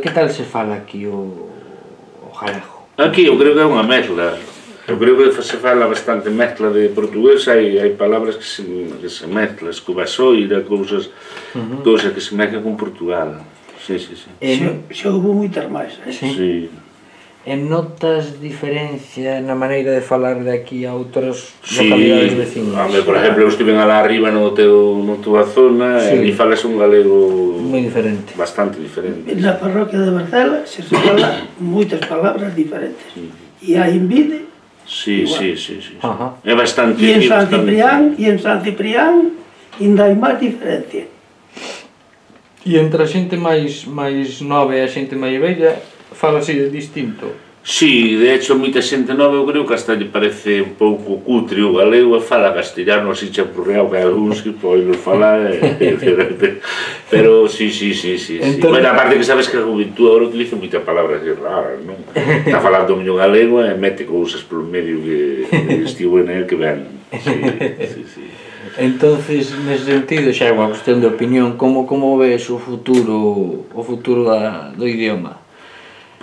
Que tal se fala aquí o galego? Aquí eu creo que é unha mezcla. Eu creo que se fala bastante mezcla de portugués, hai palabras que se mezclan, escobasoira, cousas que se mezclan con Portugal. Sí. Xa houve moitas máis, Sí. E notas diferencia na maneira de falar de aquí a outras localidades vecinas? Por exemplo, eu estive alá arriba na túa zona e ali falas un galego moi diferente, bastante diferente. Na parroquia de Barcela se fala moitas palabras diferentes. E a Invide Sí. É bastante. E en San Ciprián ainda hai máis diferencia. E entre a xente máis nova e a xente máis vella fala así de distinto? Sí, de hecho, moita xente nova eu creo que hasta lle parece un pouco cutre o galego e fala castellano así champurreado que hai algúns que poden falar pero sí. Bueno, aparte que sabes que a juventud agora utiliza moitas palabras raras, non? Está falando o miño galego e mete cousas polo medio que estivo en el que ven. Sí. Entonces, nese sentido, xa é unha cuestión de opinión, como ves o futuro do idioma?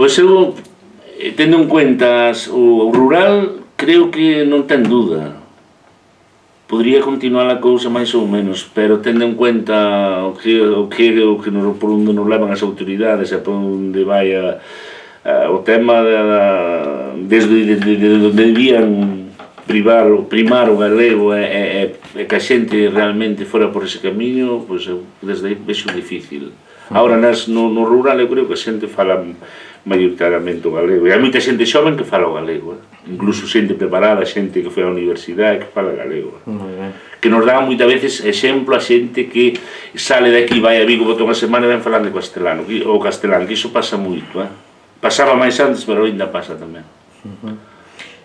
Pois eu, tendo en cuenta o rural, creo que non ten duda. Podría continuar a cousa máis ou menos, pero tendo en cuenta por onde nos levan as autoridades e por onde vai o tema desde onde debían primar o galego e que a xente realmente fora por ese camiño, pois desde aí vexo difícil. Agora no rural eu creo que a xente fala maioritariamente o galego, e hai moita xente xoven que fala o galego, incluso xente preparada, xente que foi á universidade que fala galego, que nos dá moitas veces exemplo a xente que sale de aquí, vai a Vigo, bota unha semana e ven falando castelano, que iso pasa moito, pasaba máis antes, pero ainda pasa tamén.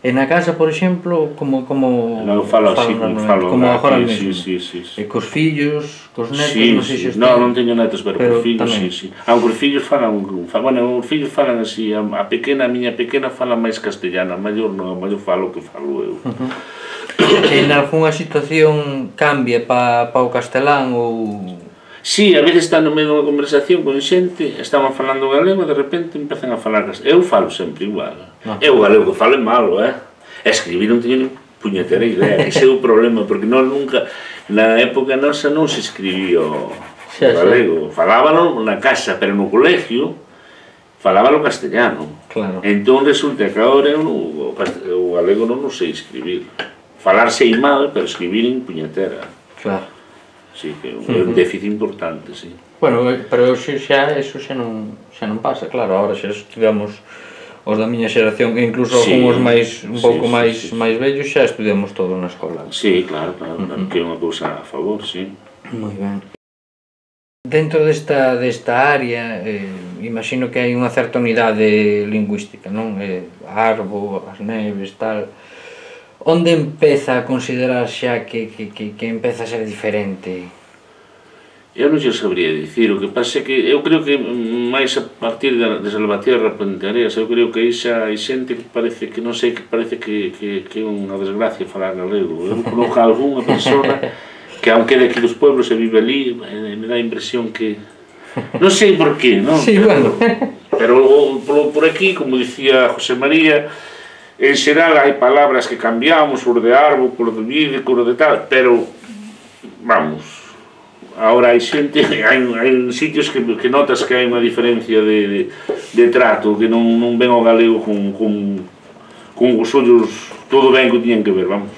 E na casa, por exemplo, como non falo así, como agora mesmo? Sí. E cos fillos, cos netos, non sei se non teño netos, pero cos fillos, sí. Aunque os fillos falan, bueno, os fillos falan así, a miña pequena fala máis castellano, a maior non, a maior falo o que falo eu. En algunha situación cambia pa o castelán ou... Sí, a veces está no medio dunha conversación con xente, estaban falando galego e de repente empezan a falar castelano. Eu falo sempre igual. Eu o galego que falo é malo, escribir non teño ni puñetera idea, ese é o problema, porque nunca, na época nosa non se escribía o galego, falábalo na casa, pero no colegio falábalo castellano. Entón resulta que agora o galego non sei escribir. Falar sei mal, pero escribir en puñetera. Claro. Sí, que é un déficit importante, sí. Bueno, pero eso xa non pasa, claro, agora xa estudiamos os da miña xeración, e incluso algúns un pouco máis vellos xa estudiamos todo na escola. Sí, claro, que é unha cousa a favor, sí. Moi ben. Dentro desta área, imagino que hai unha certa unidade lingüística, non? Arbo, as neves, tal... Onde empeza a considerar xa que empeza a ser diferente? Eu non xe sabría dicir, o que pasa é que eu creo que máis a partir de Salvatierra, Puenteareas, eu creo que aí xa hai xente que parece que non sei, que parece que é unha desgracia falar galego. Eu conozco a algunha persona que aunque é de aquí dos pueblos e vive ali, me dá a impresión que... Non sei por qué, non? Sí, bueno. Pero por aquí, como dicía José María, en xeral hai palabras que cambiamos, por de arbo, por de vide, por de tal, pero, vamos, agora hai xente, hai sitios que notas que hai unha diferencia de trato, que non ven o galego con os ollos todo ben que o tiñan que ver, vamos.